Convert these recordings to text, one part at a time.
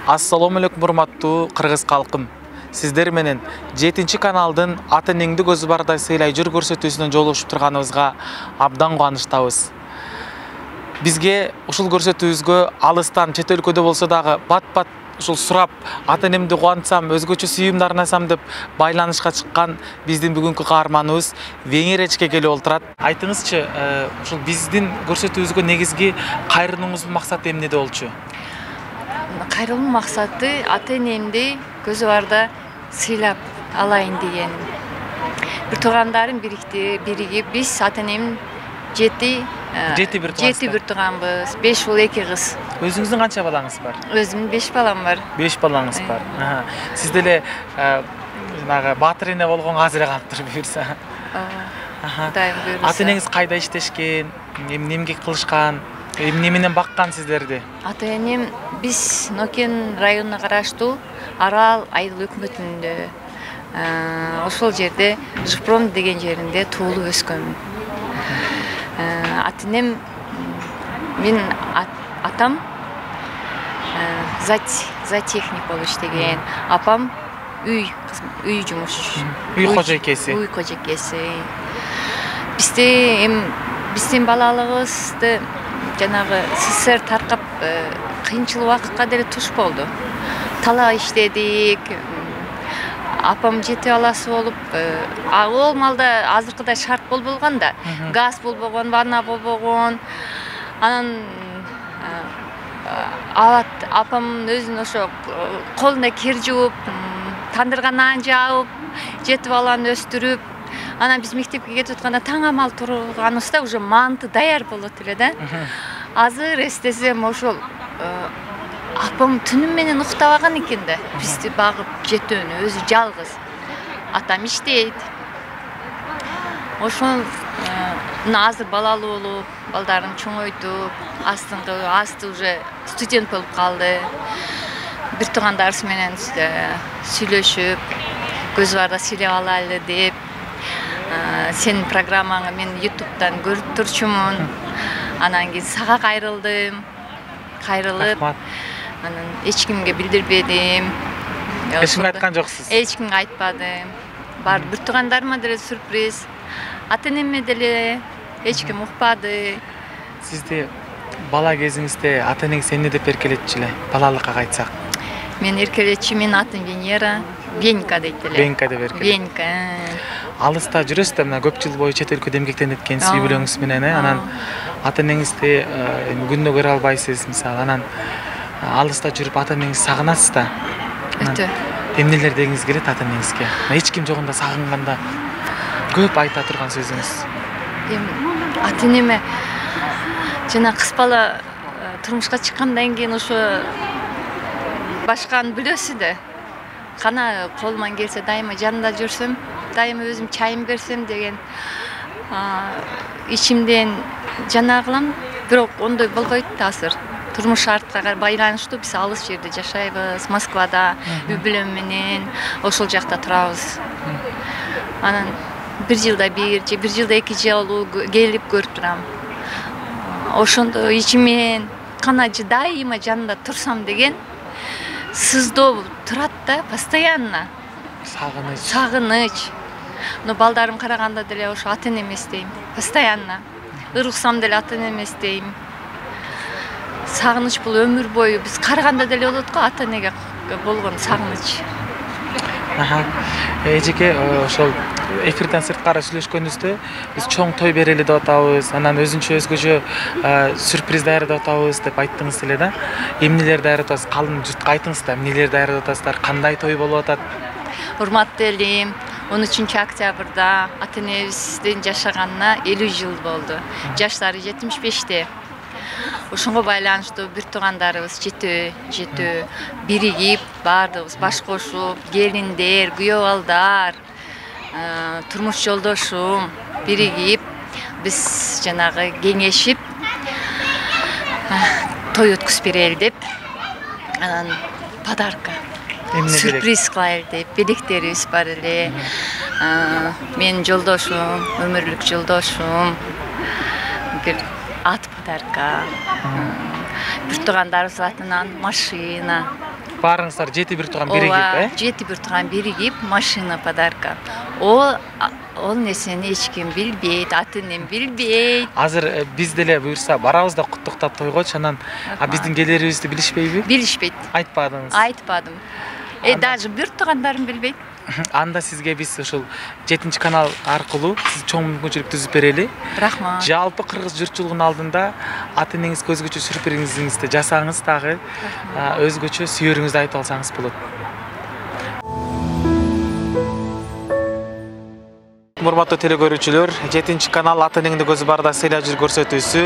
Assalomu alaykum урматтуу кыргыз калкым. Сиздер менен 7 каналдын ата энеңди көзү бардай сыйлай жүр көрсөтүүсүнөн жолугушуп турганыбызга абдан кубанычтабыз. Бизге ушул көрсөтүүбүзгө алыстан чет өлкөдө болсо дагы бат-бат ушул сурап, ата энемди кубантсам, өзгөчө сүйүүмдү арнасам деп байланышка чыккан биздин бүгүнкү каарманыбыз Венгриячке келип олтурат. Айтыңызчы, ушул биздин көрсөтүүбүзгө негизги кайрылууңуздун максаты эмнеде болчу? Кайрылуу максаты ата энемди көзү барда сыйлап алайын деген. Бир туугандарым биригип биз ата энем жети бир тууганбыз, 5 уул 2 кыз. Өзүңүздүн канча балаңыз бар? Өзүмдүн 5 балам бар. 5 балаңыз бар. Сиз деле жанагы баатыр эне болгонго азыр калыптыр буюрса. Дайым буюрса. Ата энеңиз кайда иштешкен, эмне кылышкан, эмне менен баккан сиздерди? Ата энем биз Нокен районуна караштуу Арал айыл өкмөтүндө ошол жерде Жыпром деген жеринде туулуп өскөмүн. Ата энем мен атам зоотехник болуп иштеген, апам үй жумуш, үй кожойкеси. Биздин балалыгыбызды жанагы СССР таркап кыйынчыл убакытка деле туш болду. Талаа иштедик. Апам жети баласы болуп, ал малда азыркыдай шарт болбогон да. Газ болбогон, ванна болбогон. Анан апам өзүнүн ошо колуна кир жууп, тандырга нан жаап, жети баланы өстүрүп, анан биз мектепке кетип атканда таң амал турганыбызда уже манты даяр болот эле да. Азыр эстесем ошол апам түнү менен уктабаган экен да. Бизди багып жетөөнү өзү жалгыз. Атам иштейт. Ошол азыр балалуу болуп, балдарым чоңойтуп, асты уже студент болуп калды. Бир туугандарыбыз менен сүйлөшүп, көз барда сүйлөп алайлы деп, сенин программаңы мен YouTube'дан көрүп турчумун. Анан кийин сага кайрылдым. Кайрылып, анан эч кимге билдирбедим. Эч кимге айткан жоксуз? Эч кимге айтпадым. Бар бир туугандарыма деле сюрприз. Ата энеме деле эч ким укпады. Сизди бала кезиңизде ата энеңиз эмне деп эркелетчү эле? Балалыкка кайтсак. Мен эркелетчи, менин атым Венера, Венька дейт эле. Венька деп эркелет. Венька. Алыста жүрөсүз да, мына көп жыл бою чет өлкөдө эмгектенип эткенсиз үй бүлөңүз менен, анан ата энеңизди күнүнө көрө албайсыз, мисалы, анан алыста жүрүп ата энеңизди сагынасыз да. Өтө. Эмнелер дегиңиз келет ата энеңизге? Эч ким жогунда сагынганда көп айта турган сөзүңүз. Ата энеме жана кыз бала турмушка чыккандан кийин ошо башканы билесиз да. Кана колуман келсе дайыма жанында жүрсөм, дайыма өзүм чайым берсем деген ичимден жана кылам, бирок ондой болбойт да азыр. Турмуш шартка байланыштуу биз алыс жерде жашайбыз, Москвада үй бүлөм менен ошол жакта турабыз. Анан бир жылда 2 жолу келип көрүп турам. Ошондо ичимен кана дайыма жанында турсам деген сыздоо турат да, постоянно. Сагыныч. Но балдарым караганда деле ошо ата энеме эстейм, постоянно. Ырыксам деле ата энеме эстейм. Сагыныч бул өмүр бою биз караганда деле болот го ата энеге болгон сагыныч. Эжеке, ошол эфирден сырткары сүйлөшкөнүбүздө биз чоң той берели деп атабыз, анан өзгөчө сюрприз даярдап атабыз деп айттыңыз эле да. Эмнелер даярдап атасыз? Калын журтка айтыңыз да, эмнелер даярдап атасыздар? Кандай той болуп атат? Урматтуу элим, 13 октябрда ата энебиздин жашаганына 50 жыл болду. Жаштары 75-те. Ошонго байланыштуу бир туугандарыбыз жетөө биригип, баардыгыбыз баш кошуп, келиндер, күйөө балдар, турмуш жолдошум биригип, биз жанагы кеңешип той өткүзүп берели деп, анан подарка, сюрприз кылайлы деп, белектерибиз бар эле. Менин жолдошум, өмүрлүк жолдошум, бир ат подарка, бир туугандарыбыз атынан машина, Баарыңыздар 7-1 турган биригип, 7-1 турган биригип машина подарка. Ол нерсени эч ким билбейт, аты-энем билбейт. Азыр биз деле буюрса барабыз да куттуктап тойгочу, анан биздин келерибизди билишпейби? Билишпейт. Айтпадыңыз. Айтпадым. Даже бир туугандарым билбейт. Анда сизге биз ушул 7-канал аркылуу сиз чоң мүмкүнчүлүк түзүп берели. Рахмат. Жалпы кыргыз журтчулугунун алдында ата-энеңиз көзгөчө сюрпризиңизди жасаңыз, дагы өзгөчө сүйөрүңүздү айтып алсаңыз болот. Урматтуу телекөрүүчүлөр, 7-канал ата-энеңди көзү барда сыйлап жүр көрсөтүүсү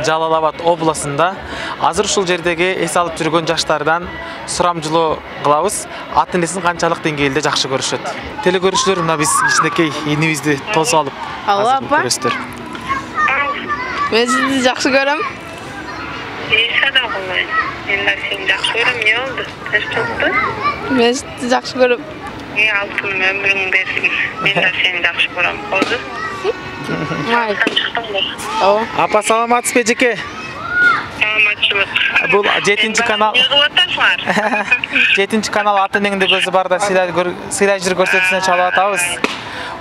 Жалал Абад областында. Азыр ушул жердеги эс алып жүргөн жаштардан сурамжылоо кылабыз. Ата-энесин канчалык деңгээлде жакшы көрүшөт. Телекөрүүчүлөр, мына биз кичинекей инибизди тосуп алып көрөсүздөр. Мен сизди жакшы көрөм. Садам кылбайм. Мен сени жакшы көрөм. Эмне болду? Тынчтыкпы? Мен сизди жакшы көрөм. Алтын өмүрүң берсин. Мен сени жакшы көрөм. Болду? Май. Ооба. Апа, саламатсызбы эжеке? Саламатчылык. Бул 7-канал. Не кылып атасыңар? 7-канал ата-энеңди көзү барда сыйлай жүр көрсөтүүсүнө чалып атабыз.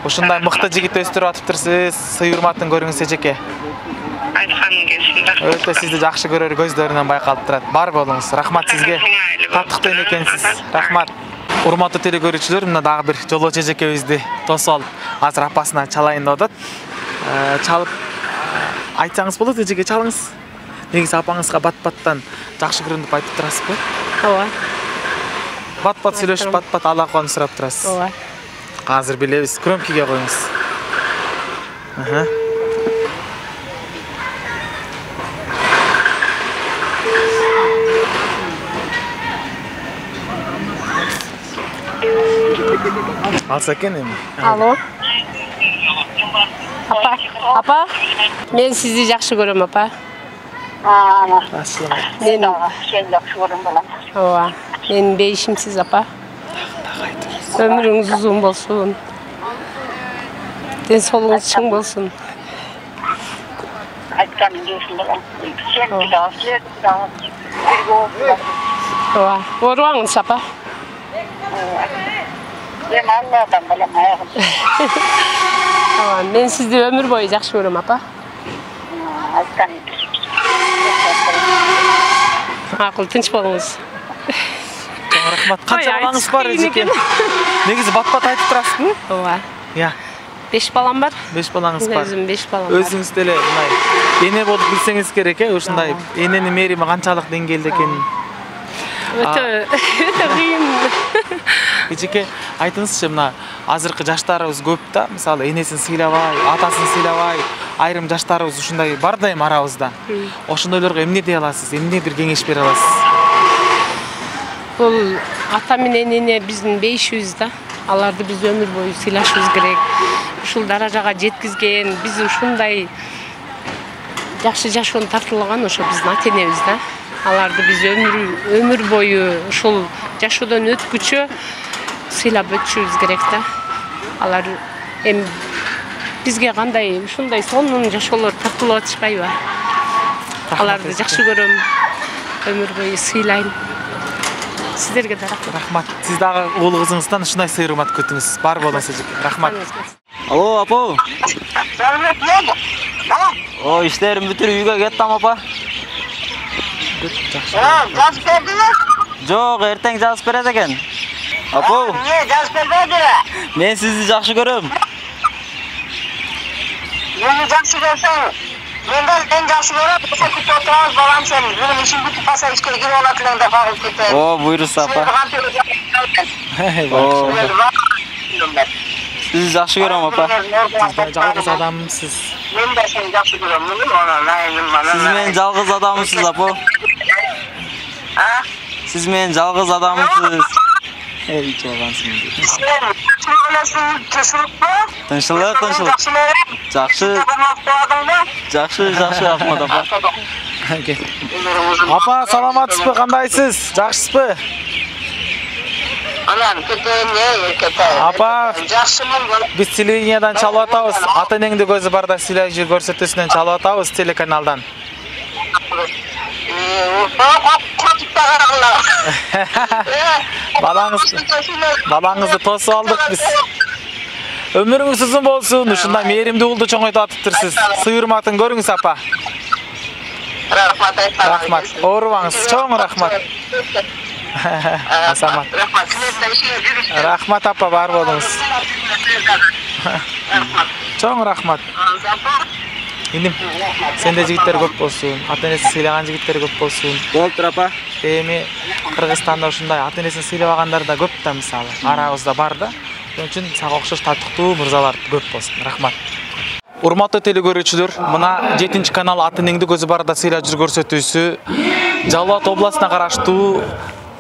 Ушундай мыкты жигит өстүрүп атыптырсыз. Сый урматын көрүңүз эжеке. Айтканым келсин. Өтө сизди жакшы көрөр көздөрүнөн байкалып турат. Бар болуңуз. Рахмат сизге. Таттыктуу экенсиз. Рахмат. Урматтуу телекөрүүчүлөр, мына дагы бир жолоочу эжекебизди тосуп алып, азыр апасына чалайын деп атат. Чалып айтсаңыз болот, эжеке, чалыңыз. Негизи апаңызга бат-баттан жакшы көрөм деп айтып турасызбы? Ооба. Бат-бат сүйлөшүп, бат-бат алаканы сурап турасыз. Ооба. Азыр билебиз. Громкийге коюңуз. Алса экен эми. Алло. Апа. Мен сизди жакшы көрөм, апа. Мен сени жакшы көрөм балам. Ооба. Менин бейишимсиз, апа. Өмүрүңүз узун болсун. Ден соолугуңуз чың болсун. Айтканым келсин балам. Сен дагы Ооба. Оорубаңыз, апа. Мен Алладан балам аягым. Ооба. Мен сизди өмүр бою жакшы көрөм, апа. Айтканым. Макул, тынч болуңуз. Рахмат. Канча балаңыз бар эжеке? Негизи бат-бат айтып турасызбы? Ооба. Я. 5 балам бар. 5 балаңыз бар. Өзүм 5 балам бар. Өзүңүз деле мындай эне болуп билсеңиз керек, ушундай эненин мээрими канчалык деңгээлде экенин. Өтө кыйын. Эжеке, айтыңызчы, мына азыркы жаштарыбыз көп да, мисалы энесин сыйлабай, атасын сыйлабай, айрым жаштарыбыз ушундай бар да эми арабызда. Ошондойлорго эмне дей аласыз? Эмне бир кеңеш бере аласыз? Бул ата менен эне биздин бейишибиз да. Аларды биз өмүр бою сыйлашыбыз керек. Ушул даражага жеткизген, биз ушундай жакшы жашоону тартуулаган ошо биздин ата-энебиз да. Аларды биз өмүр бою ушул жашоодон өткүчө сыйлап өтүшүбүз керек да. Алар эми бизге кандай ушундай сонун жашоолор тартуулап атышпайбы? Аларды жакшы көрөм, өмүр бою сыйлайм. Сиздерге да рахмат. Рахмат. Сиз дагы уул кызыңыздан ушундай сый урмат күтүңүз. Бар болуңуз эжеке. Рахмат. Алло, апа. О, işlerim бүтүрүп үйгө кеттим, апа. Жазып бердиңби? Жок, эртең жазып берет экен. Апа. Эмне жазып бербеди? Мен сизди жакшы көрөм. Мени жакшы көрсөң, мен жакшы көрөм. Күтүп отурабыз балам сен. Менин ишим бүтүп калса ишке кирип алат элең да багып кетем. О, буйруса, апа. Сизди жакшы көрөм, апа. Сиз жалгыз адамсыз. Мен да сени жакшы көрөм. Сиз менин жалгыз адамсыз, апа. Сиз менин жалгыз адамсыз. Эй, чалгансың. Тынчылык, тынчылык. Жакшы. Жакшы, рахмат, апа. Апа, саламатсызбы, кандайсыз? Жакшысызбы? Анан кетем. Апа, Жакшымын. биз телевидениядан чалып атабыз. Ата-энеңди көзү барда сыйлай жүр көрсөтүүсүнөн чалып атабыз телеканалдан. Балаңызды тосуп алдык биз. Өмүрүңүз узун болсун, ушундай мээримдүү уулду чоңойтуп атыптырсыз. Сый-урматын көрүңүз, апа. Рахмат. Оорубаңыз. Чоң рахмат. Асамат. Рахмат, апа, бар болуңуз. Чоң рахмат. Иним, сенде жигиттер көп болсун, ата-энесин сыйлаган жигиттер көп болсун. Болуптур, апа. Эми Кыргызстанда ушундай ата-энесин сыйлабагандар да көп да, мисалы. Арабызда бар да. Ошон үчүн сага окшош татыктуу мырзалар көп болсун. Рахмат. Урматтуу телекөрүүчүлөр, мына 7-канал ата-энеңди көзү барда сыйлап жүр көрсөтүүсү Жалал Абад областына караштуу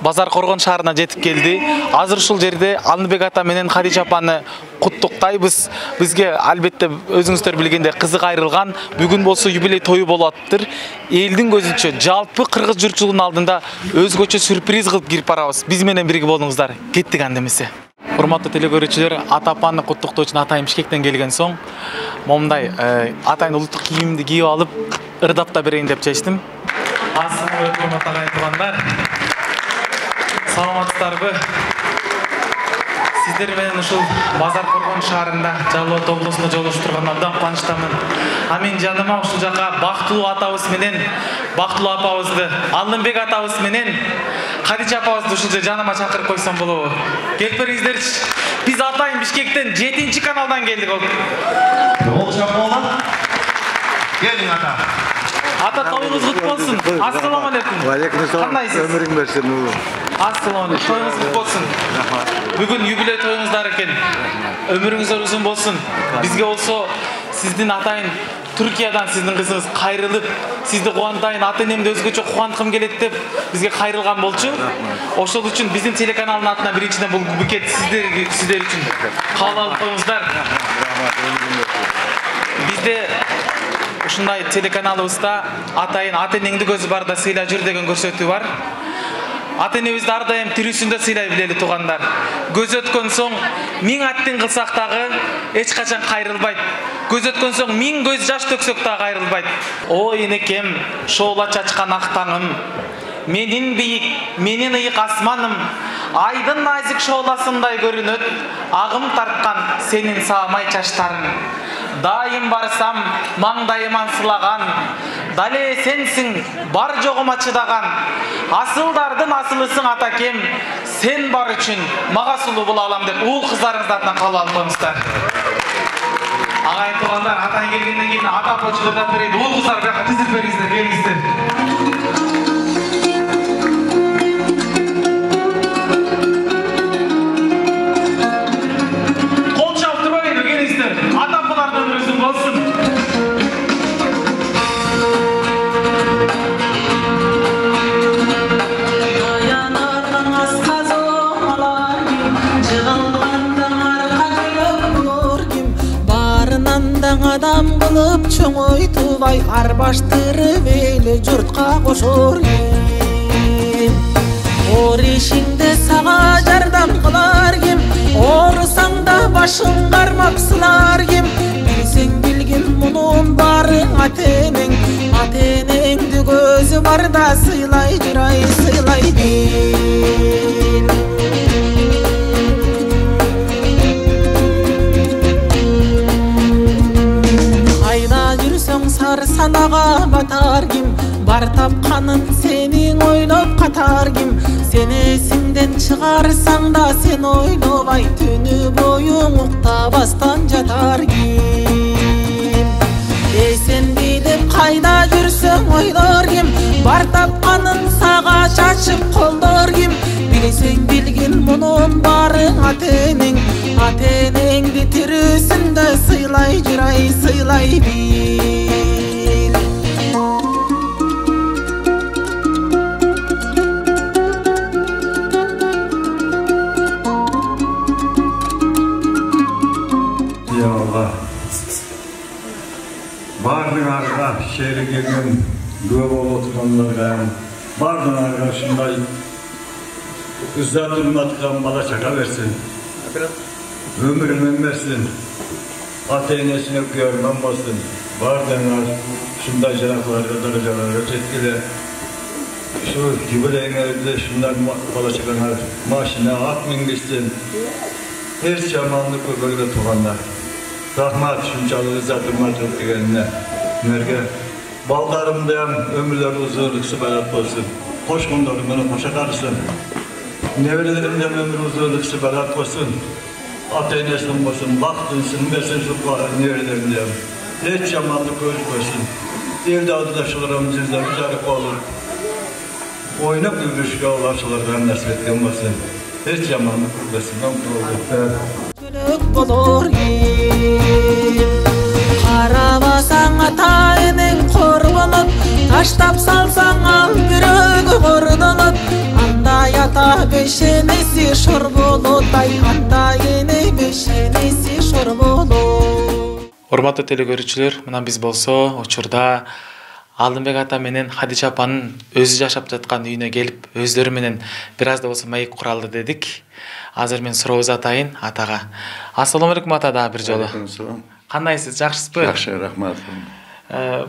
Базар Коргон шаарына жетип келди. Азыр ушул жерде Алынбек ата менен Хадижа апаны куттуктайбыз. Бизге албетте өзүңүздөр билгендей кызык айрылган, бүгүн болсо юбилей тою болуп атыптыр. Элдин көзүнчө жалпы кыргыз журтчулугунун алдында өзгөчө сюрприз кылып кирип барабыз. Биз менен бирге болуңуздар. Кеттик анда эмесе. Урматтуу телекөрүүчүлөр, ата апаны куттуктоо үчүн атайым Бишкектен келген соң момундай атайын улуттук кийимди кийип алып, ырдап да берейин деп чечтим. Ассаламу алейкум атагай. Саламатсыздарбы? Сиздер менен ушул Базар Коргон шаарында, Жалал Абад облусунда жолугушуп турган абдан кубанычтамын. Мен жаныма ушул жака бактылуу атабыз менен, бактылуу апабызды, Алынбек атабыз менен Хадижа апабызды ушул жерге жаныма чакырып койсом болобу? Келип бериңиздерчи. Биз атайын Бишкектен 7-каналдан келдик. Болчак болду. Келиң ата. Ата, тоюңуз кут болсун. Ассаламу алейкум. Алейкум ассалам. Кандайсыз? Өмүрүң берсин уулум. Ассаламу алейкум. Тоюңуз кут болсун. Бүгүн юбилей тоюңуздар экен. Өмүрүңүздөр узун болсун. Бизге болсо сиздин атайын Түркиядан сиздин кызыңыз кайрылып, сизди кубантайын, ата-энемди өзгөчө кубанткым келет деп бизге кайрылган болчу. Ошол үчүн биздин телеканалдын атынан биринчиден бул букет сиздер үчүн кабыл алып коюңуздар. Бизде ушундай телеканалыбызда атайын ата-энеңди көзү барда сыйла жүр деген көрсөтүү бар. Ата-энебизди ар дайым тирүүсүндө сыйлай билели туугандар. Көз өткөн соң 1000 аттин кылсак дагы эч качан кайрылбайт. Көз өткөн соң 1000 көз жаш төксөк дагы кайрылбайт. Ой энекем, шоола чачкан ак таңым, менин бийик, менин ыйык асманым, айдын назик шооласындай көрүнөт, агым тарткан сенин саамай чачтарың. Дайым барсам, маңдайыман сылаган, дале сенсиң, бар жогума чыдаган. Асылдардын асылысың атакем, сен бар үчүн мага сулуу боло алам деп уул кыздарыңыздын атынан кабыл алып коюңуздар. Агайын туугандар, атайын келгенден кийин ата почтадан берейин. Уул кыздар бияка тизилип бериңиздер, келиңиздер. Адам кылып чоңойтубай арбаштырып эле журтка кошор ким? Оор ишиңде сага жардам кылар ким? Оорусаң да башың кармап сылар ким? Билсең билгин мунун баары ата-энең, ата-энеңди көзү барда сыйлай жүр, ай сыйлай бил. Сар санага батар ким? Бар тапканын сенин ойлоп катар ким? Сен эсиңден чыгарсаң да сен ойлобай түнү бою уктабастан жатар ким? Эсенби деп кайда жүрсөң ойлор ким? Бар тапканын сага чачып колдор ким? Билсең билгин мунун баары ата-энең, ата-энеңди тирүүсүндө сыйлай жүр, ай сыйлай бил. Бардыңарга шери келген күбө болуп отургандарга, бардыңарга ушундай узат урматкан бала чака берсин, өмүрүн берсин, ата-энесине көрмөн болсун. Бардыңар ушундай жаракларга, даражаларга жеткиле. Şu jubileyingizde şunlar bala çakana maşina at mingistin. Her zamanlık böyle tuğanlar. Rahmat şunçalığı zatırmat ötügenine. Merge baldarımda ömürler uzunluk süberat olsun. Hoş kundarım bana hoşa karışsın. Nevrelerimden ömür uzunluk süberat olsun. Ateynesin olsun, vaktinsın, versin şu nevrelerimden. Hiç zamanlık gözükmesin. Evde arkadaşlarım sizler güzel olur. Oynak yürüyüşke ulaşılardan nasip etken olsun. Hiç zamanlık gözükmesin. Gülük bolur Karabasan ata enin korbanıp Taştap salsan al bürögü kordanıp Anda yata beşenesi şor bolutay Anda yeni beşenesi şor bolut. Урматтуу телекөрүүчүлөр, мына биз болсо учурда Алдынбек ата менен Хадича апанын өзү жашап жаткан үйүнө келип, өздөрү менен бир аз да болсо маек куралы дедик. Азыр мен сурообуз атайын атага. Ассаламу алейкум ата дагы бир жолу. Кандайсыз, жакшысызбы? Жакшы, рахмат.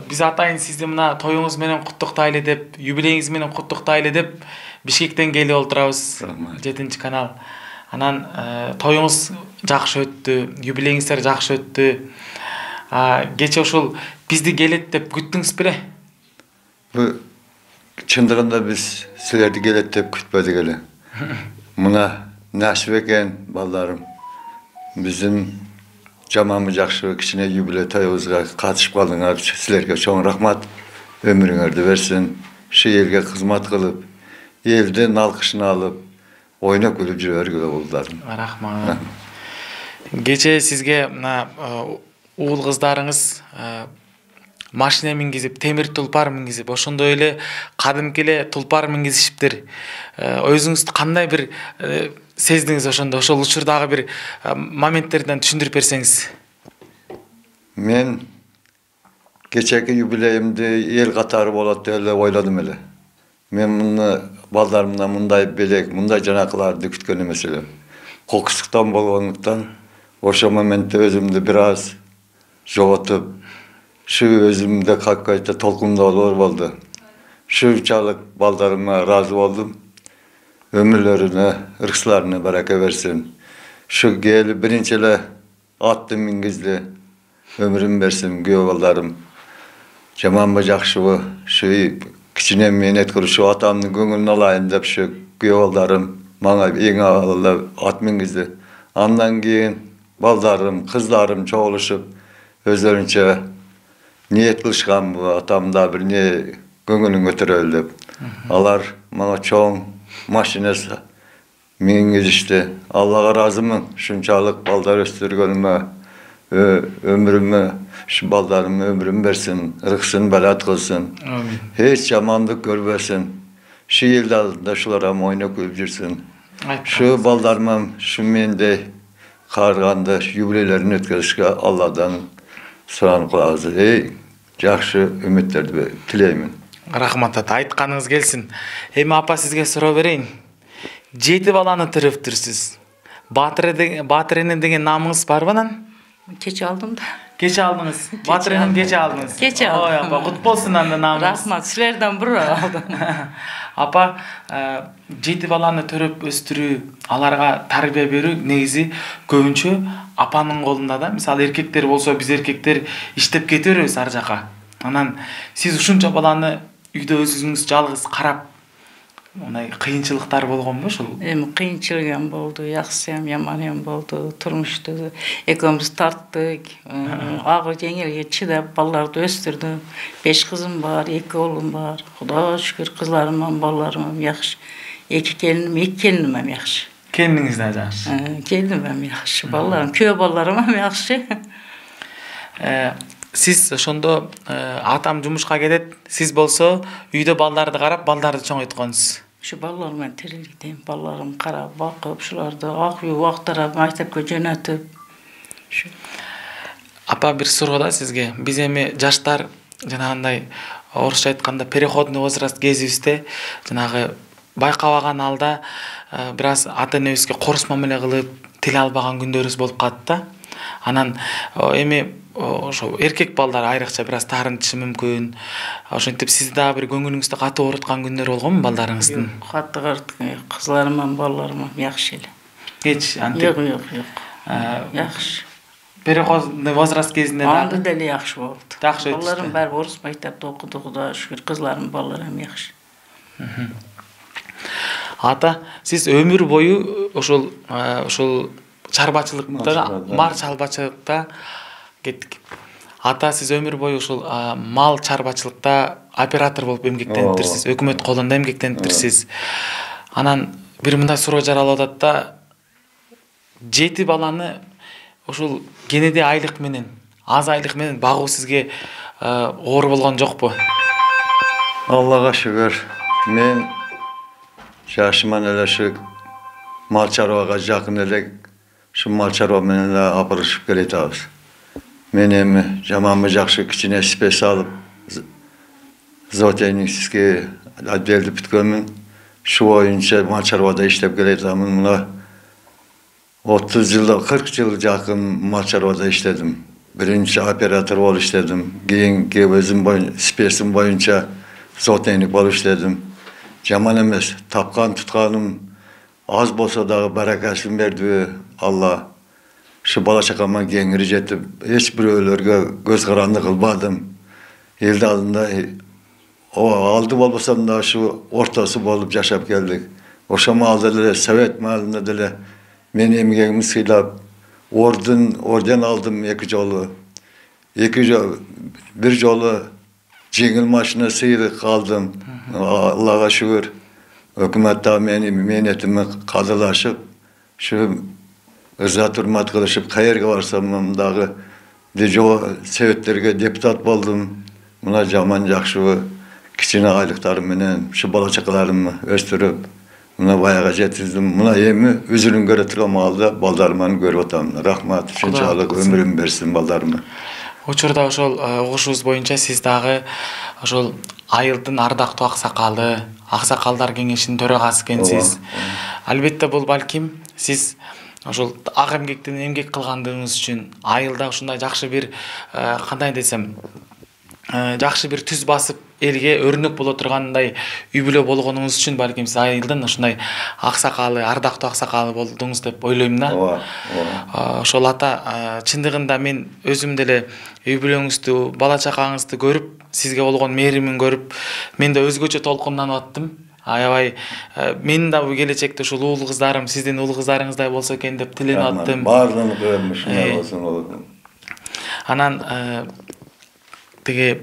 Биз атайын сизди мына тоюңуз менен куттуктайлы деп, юбилейиңиз менен куттуктайлы деп Бишкектен келип отурабыз. 7-канал. Анан тоюңуз жакшы өттү, юбилейиңиздер жакшы өттү. Кече ушул бизди келет деп күттүңүз беле? Бу чындыгында биз силерди келет деп күтпөдүк эле. Мына насип экен балдарым. Биздин жаманбы жакшы кичине юбилей тоюбузга катышып калдыңар. Силерге чоң рахмат. Өмүрүңөрдү берсин. Шу элге кызмат кылып, элдин алкышын алып, ойноп күлүп жүрө бергиле балдарым. Рахмат. Кече сизге мына уул кыздарыңыз машина мингизип, темир тулпар мингизип, ошондой эле кадимки эле тулпар мингизишиптир. Өзүңүз кандай бир сездиңиз ошондо? Ошол учурдагы бир моменттерден түшүндүрүп берсеңиз. Мен кечеки юбилейимди эл катары болот деп эле ойладым эле. Мен муну балдарымдан мындай белек, мындай жанакыларды күткөн эмес элем. Кокустуктан болгондуктан ошол моментте өзүмдү бир аз жоготуп, шу өзүмдө какайта толкундоолор болду. Шунчалык балдарыма ыраазы болдум. Өмүрлөрүнө, ырксыларына барака берсин. Шу келип биринчи эле атты мингизди. Өмүрүн берсин күйөө балдарым. Жаманбы жакшыбы, шу кичине мээнет кылып шу атамдын көңүлүн алайын деп шу күйөө балдарым мага эң аввал ат мингизди. Андан кийин балдарым, кыздарым чогулушуп өздөрүнчө ниет кылышкан атамда бир не көңүлүн көтөрөлү деп. Алар мага чоң машина мингизишти. Аллага ыраазымын. Шунчалык балдар өстүргөнүмө, өмүрүмө, шу балдарыма өмүрүн берсин, ырксын балат кылсын. Эч жамандык көрбөсүн. Шу эл алдында шулар ойноп күлүп жүрсүн. Шу балдарыма шу мендей карганды юбилейлерин өткөрүшкө Алладан суранып калабыз. Жакшы үмүттөрдү тилеймин. Рахмат ата, айтканыңыз келсин. Эми апа сизге суроо берейин. 7 баланы төрөптүрсүз. Батыренен деген намыңыз барбы анан? Кече алдым да. Кече алдыңыз. Батыренен кече алдыңыз. Кече алдым. Ой апа, кут болсун анда намыңыз. Рахмат, силерден буруп алдым. Апа, 7 баланы төрөп өстүрүү, аларга тарбия берүү негизи көбүнчө апанын колунда да. Мисалы эркектер болсо, биз эркектер иштеп кете беребиз ар жака. Анан сиз ушунча баланы үйдө өзүңүз жалгыз карап, онай кыйынчылыктар болгонбу ошол? Эми кыйынчылык болду, жакшы жаман болду. Турмушту экөөбүз тарттык. Агы жеңилге чыдап балдарды өстүрдүм. 5 кызым бар, 2 уулум бар. Кудайга шүгүр, кызларым, балдарым жакшы. 2 келиним жакшы. Келиниңиз да жакшы. Келиним жакшы, балдарым, күйөө балдарым жакшы. Сиз ошондо атам жумушка кетет, сиз болсо үйдө балдарды карап, балдарды чоңойтконсуз. Şu ballarımla terlikdeyim, ballarım karab, bakıp, şularda akıyor, vaxtara maktabga jönötüp. Апа, бир суроо да сизге. Биз эми жаштар жанагындай орусча айтканда переходный возраст кезибизде жанагы байкабаган алда бир аз ата-энебизге корус мамиле кылып, тил албаган күндөрүбүз болуп калат да. Анан эми ошо эркек балдар айрыкча бир аз таарынтышы мүмкүн. Ошентип сизди дагы бир көңүлүңүздү катуу ооруткан күндөр болгонбу балдарыңыздын? Катты кызларым, балдарым жакшы эле. Эч антип. Жок. Жакшы. Переходный возраст кезинде анда деле жакшы болду. Жакшы өтүштү. Балдарым баары орус мектепте окуду, Кудайга шүгүр. Кызларым, балдарым жакшы. Ата, сиз өмүр бою ошол чарбачылыкта, мал чарбачылыкта кеттик. Ата, сиз өмүр бою ушул мал чарбачылыкта оператор болуп эмгектениптирсиз, өкмөт колунда эмгектениптирсиз. Анан бир мындай суроо жаралып атат да, 7 баланы ушул кенеде айлык менен, аз айлык менен багуу сизге оор болгон жокпу? Аллага шүгүр. Мен жашыман эле ушу мал чарбага жакын эле ушу мал чарба менен эле апырышып келатабыз. Мен эми жаманбы жакшы кичине спес алып зоотехникский отделди бүткөнмүн. Шу боюнча мал чарбада иштеп келатамын. Мына 30 жылда 40 жыл жакын мал чарбада иштедим. Биринчи оператор болуп иштедим. Кийинки өзүм спесим боюнча зоотехник болуп иштедим. Жаман эмес. Тапкан тутканым аз болсо дагы баракасын берди Алла. Шу бала чакама кеңири жетип, эч бирөөлөргө көз каранды кылбадым. Элди алдында алды болбосом да ушу ортосу болуп жашап келдик. Ошо маалда деле Совет маалында деле мен эмгегимди сыйлап, орден алдым 2 жолу. Бир жолу жеңил машина сыйлык алдым. Аллага шүгүр. Өкмөт да мээнетиме кадырлашып, ушу ырза турмат кылышып, каерге барсам дагы Советтерге депутат болдум. Мына жаман жакшы кичине айлыктарым менен ушу бала чакаларымды өстүрүп, мына баяга жеткиздим. Мына эми өзүнүн көрө турган маалда балдарымды көрүп атам. Рахмат, ушунчалык өмүрүм берсин балдарыма. Учурда ошол угушубуз боюнча сиз дагы ошол айылдын ардактуу аксакалдар кеңешинин төрагасы экенсиз. Албетте бул балким сиз ошол ак эмгектен эмгек кылгандыгыңыз үчүн айылда ушундай жакшы бир кандай десем, жакшы бир түз басып элге өрнөк боло тургандай үй бүлө болгонуңуз үчүн балким сиз айылдын ушундай аксакалы, ардактуу аксакалы болдуңуз деп ойлойм да. Ошол ата, чындыгында мен өзүм деле үй бүлөңүздү, бала чакаңызды көрүп, сизге болгон мээримин көрүп, мен да өзгөчө толкунданып аттым. Аябай менин да бул келечекте ушул уулу кыздарым сиздин уулу кыздарыңыздай болсо экен деп тиленип аттым. Баардыгын көрөм, ушундай болсун. Анан тиги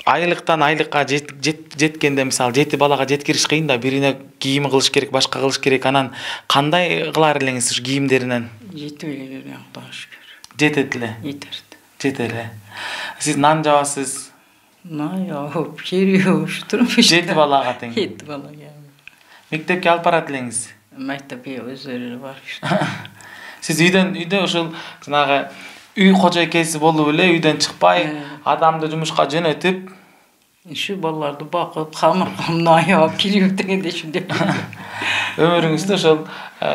айлыктан айлыкка жеткенде мисалы 7 балага жеткириш кыйын да, бирине кийим кылыш керек, башка кылыш керек. Анан кандай кылар элеңиз ушу кийимдеринен? Жетип эле Кудайга шүгүр. Жетет эле. Жетет эле. Сиз нан жабасыз? Нан жабып, кереби ушу турмуш. 7 балага тең. 7 балага. Мектепке алып барат элеңиз? Мектепке өздөрү барып. Сиз үйдө ошол жанагы үй кожойкеси болуп эле үйдөн чыкпай, адамды жумушка жөнөтүп, ушу балдарды бакып, камыркамдан аяп, кирип дегенде ушундай. Өмүрүңүздө ошол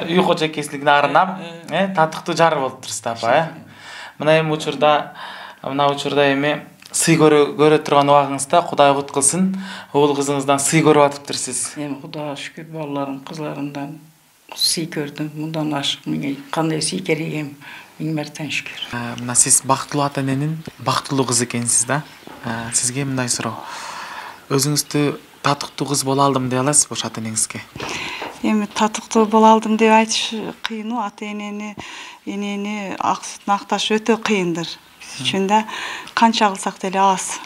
үй кожойкесилигине арнап, татыктуу жар болуп турсуз апа, Мына эми учурда эми сый көрө турган убагыңызда Кудай кут кылсын, уул кызыңыздан сый көрүп атыптырсыз. Эми Кудайга шүгүр, балдарым, кызларымдан сый көрдүм. Мындан ашык менге кандай сый керек эми? Миң мәртен шүгүр. Мына сиз бактылуу ата-эненин бактылуу кызы экенсиз да. Сизге мындай суроо. Өзүңүздү татыктуу кыз боло алдым дей аласызбы ош ата-энеңизге? Эми татыктуу боло алдым деп айтыш кыйын. Ата-энени, энени ак сүтүн акташ өтө кыйындыр. Биз үчүн да канча кылсак деле аз.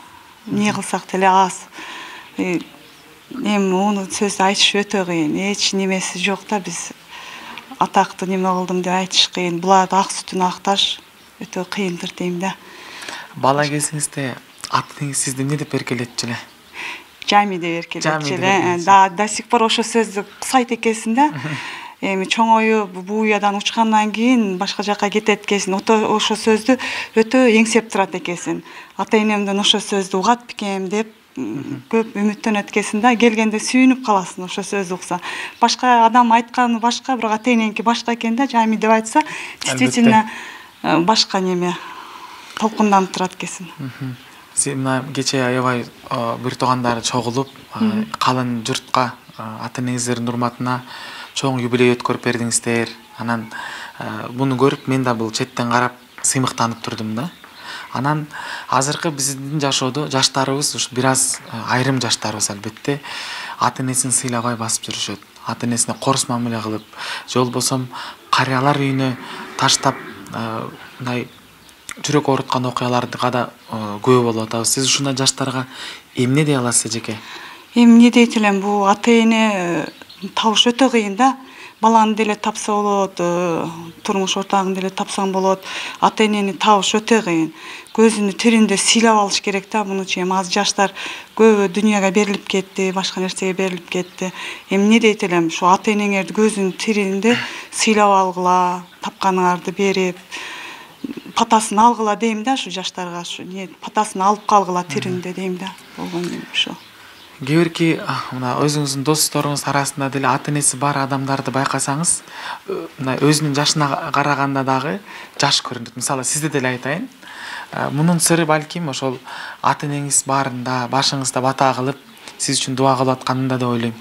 Эмне кылсак деле аз. Эми муну сөздү айтыш өтө кыйын. Эч немеси жок да, биз атактуу неме кылдым деп айтыш кыйын. Буларды ак сүтүн акташ өтө кыйындыр дейм да. Бала кезиңизде ата-энеңиз сизди эмне деп эркелетчү эле? Жами деп эркелетчү эле. До сих пор ошо сөздү кусайт экенсиң да. Эми чоңоюп бул уядан учкандан кийин башка жакка кетет экенсиң. Ошо сөздү өтө эңсеп турат экенсиң. Ата-энемден ошо сөздү угат бекем деп көп үмүттөнөт экенсиң да. Келгенде сүйүнүп каласың ошо сөздү укса. Башка адам айтканы башка, бирок ата-эненики башка экен да. Жами деп айтса, действительно башка неме. толкунданып турат экенсиң. Сен мына кече аябай бир туугандары чогулуп, калын журтка ата энеңиздердин урматына чоң юбилей өткөрүп бердиңиздер. Анан буну көрүп мен да бул четтен карап сыймыктанып турдум да. Анан азыркы биздин жашоодо жаштарыбыз ушу бир аз айрым жаштарыбыз албетте ата энесин сыйлабай басып жүрүшөт. Ата энесине корс мамиле кылып, же болбосо карыялар үйүнө таштап мындай жүрөк ооруткан окуяларды да көп болуп атабыз. Сиз ушундай жаштарга эмне дей аласыз эжеке? Эмне дейт элем, бул ата эне табыш өтө кыйын да. Баланы деле тапса болот, турмуш ортогун деле тапсаң болот. Ата энени табыш өтө кыйын. Көзүнү тиринде сыйлап алыш керек да. Мунучу эми аз жаштар көбү дүйнөгө берилип кетти, башка нерсеге берилип кетти. Эмне дейт элем, ушу ата энеңерди көзүнүн тиринде сыйлап алгыла, тапканыңарды берип, патасын алгыла дейм да, ушу жаштарга, ушу патасын алып калгыла тиринде дейм да. Болгон ушу. Кээ мына өзүңүздүн досторуңуз арасында деле ата энеси бар адамдарды байкасаңыз, мына өзүнүн жашына караганда дагы жаш көрүнөт. Мисалы, сизди деле айтайын. Мунун сыры балким ошол ата энеңиз баарында башыңызда бата кылып, сиз үчүн дуа кылып атканында деп ойлойм.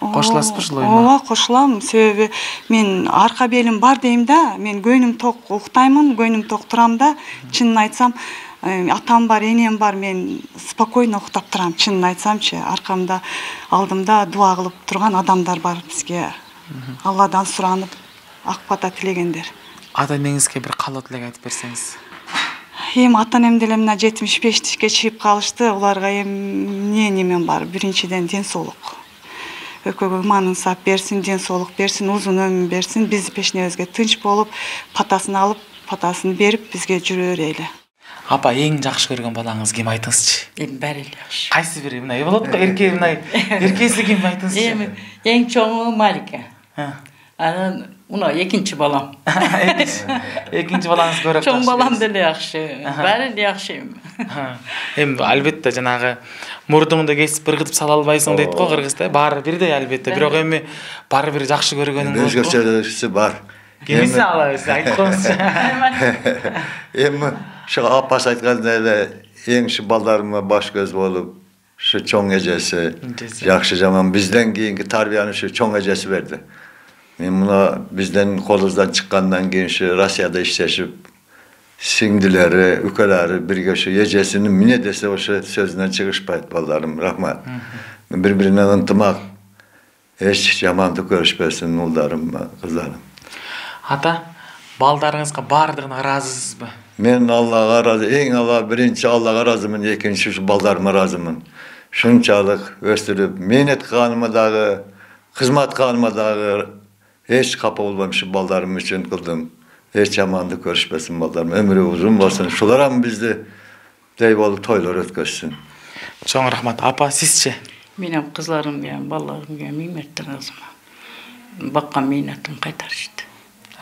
Кошуласызбы ушул оюна? Ооба, кошулам. Себеби мен арка белим бар дейм да. Мен көйнүм ток уктаймын, көйнүм ток турам да. Чынын айтсам, атам бар, энем бар, мен спокойно уктап турам. Чынын айтсамчы, аркамда, алдымда дуа кылып турган адамдар бар бизге. Алладан суранып, ак бата тилегендер. Ата энеңизге бир каалоо тилек айтып берсеңиз. Эми ата энем деле мына 75-ке чыгып калышты. Уларга эмне немен бар? Биринчиден ден соолук. Экөөгө иманын сап берсин, ден соолук берсин, узун өмүр берсин. Биз пешнебизге тынч болуп, патасын алып, патасын берип бизге жүрө берели. Апа, эң жакшы көргөн балаңыз ким, айтыңызчы? Эми баары эле жакшы. Кайсы бири? Мына болот го, эрке мына. Эркеси ким, айтыңызчы? Эми эң чоңу Малика. Анан мына экинчи балам. Экинчи балаңыз көрөк. Чоң балам деле жакшы. Баары эле жакшы эми. Эми албетте жанагы мурдуңду кесип ыргытып сала албайсың дейт го кыргызда. Баары бирдей албетте. Бирок эми баары бир жакшы көргөнүң болот. Өзгөчөсү бар. Кимиси алабыз, айтып коюңузчу. Эми ошо апасы айткандай эле эң ушу балдарыма баш көз болуп, ушу чоң эжеси, жакшы жаман бизден кийинки тарбияны ушу чоң эжеси берди. Мен мына бизден колубуздан чыккандан кийин ушу Россияда иштешип, сиңдилери, үкөлөрү бирге ушу эжесинин эмне десе ошо сөзүнөн чыгышпайт балдарым. Рахмат. Бири-бирине ынтымак, эч жамандык көрүшпөсүн улдарым, кыздарым. Ата, балдарыңызга баардыгына ыраазысызбы? Мен Аллага ыраазы, эң биринчи Аллага ыраазымын, экинчи ушу балдарыма ыраазымын. Шунчалык өстүрүп, мээнет кылганыма дагы, кызмат кылганыма дагы эч капа болбойм, ушу балдарым үчүн кылдым. Эч жамандык көрүшпөсүн балдарым, өмүрү узун болсун. Шуларам бизди дей болуп тойлор өткөзсүн. Чоң рахмат. Апа, сизчи? Менин кызларымга, балдарымга миң мерте ыраазымын. Баккан мээнетин кайтарышты.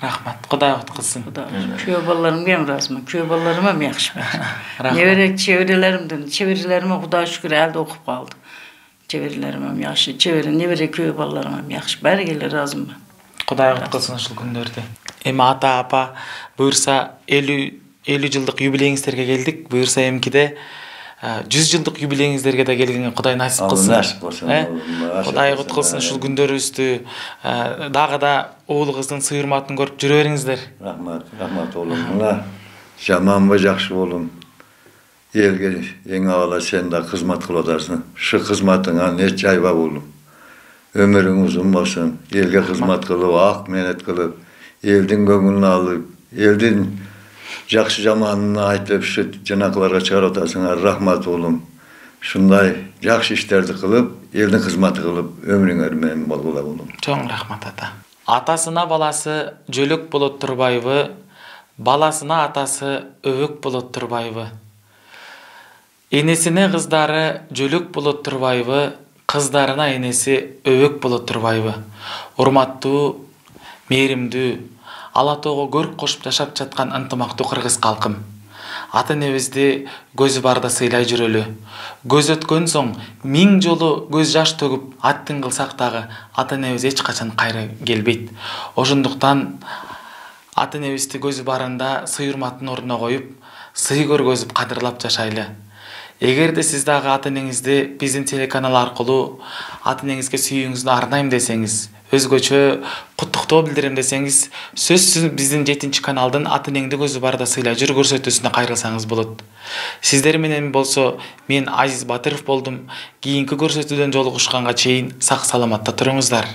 Рахмат. Кудай куткузсун. Күйөө балдарымга ыраазымын. Күйөө балдарыма жакшы бар. Небере чеберелериме Кудай шүкүр әлде окуп калды. Чеберелериме жакшы, небере күйөө балдарыма жакшы. Бәрге эле ыраазымын. Кудай куткузсун ушул күндөрдү. Эми ата, апа, буюрса 50 жылдык юбилейиңиздерге келдик. Буюрса эмкиде 100 жылдык юбилейиңиздерге да келгенге Кудай насип кылсын. Насип болсун. Кудай куткузсун ушул күндөрүбүздү. Дагы да уулуңуздун сый урматын көрүп жүрө бериңиздер. Рахмат, рахмат оğlum. Мына жаманбы жакшы болум. Элге эң авала сен да кызмат кылып атасың. Ушу кызматыңа эч жайба болум. Өмүрүң узун болсун. Элге кызмат кылып, ак мээнет кылып, элдин көңүлүн алып, элдин жакшы жаманын айтып, ушу жанакыларга чыгарып атасыңар. Рахмат оğlum. Шундай жакшы иштерди кылып, элдин кызматы кылып, өмүрүңөр менен болгула оğlum. Чоң рахмат ата. Атасына баласы жөлөк болот турбайбы, баласына атасы өбөк болот турбайбы. Энесине кыздары жөлөк болот турбайбы, кыздарына энеси өбөк болот турбайбы. Урматтуу, мээримдүү, ала тоого көрк кошуп жашап жаткан ынтымактуу кыргыз калкым. Ата энебизди көзү барда сыйлай жүрөлү. Көз өткөн соң 1000 жолу көз жаш төгүп аттын кылсак дагы ата энебиз эч качан кайра келбейт. Ошондуктан ата энебизди көзү барында сый урматтын ордуна коюп, сый көргөзүп кадырлап жашайлы. Эгерде сиз дагы ата энеңизди биздин телеканал аркылуу ата энеңизге сүйүүңүздү арнайм десеңиз, өзгөчө куттуктоо билдирем десеңиз, сөзсүз биздин 7 каналдын ата энеңди көзү барда сыйлай жүр көрсөтүүсүнө кайрылсаңыз болот. Сиздер менен болсо мен Азиз Батыров болдум. Кийинки көрсөтүүдөн жолугушканга чейин сак саламатта туруңуздар.